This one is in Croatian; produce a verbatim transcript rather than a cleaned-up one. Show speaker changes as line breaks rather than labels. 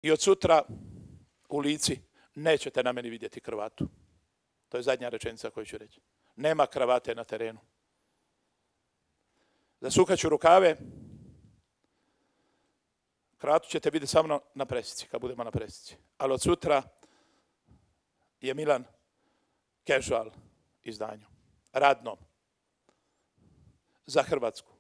I od sutra u Lici nećete na meni vidjeti kravatu. To je zadnja rečenica koju ću reći. Nema kravate na terenu. Zasukat ću rukave. Kravatu ćete vidjeti samo na presici, kad budemo na presici. Ali od sutra je Milan casual izdanju. Radnom. Za Hrvatsku.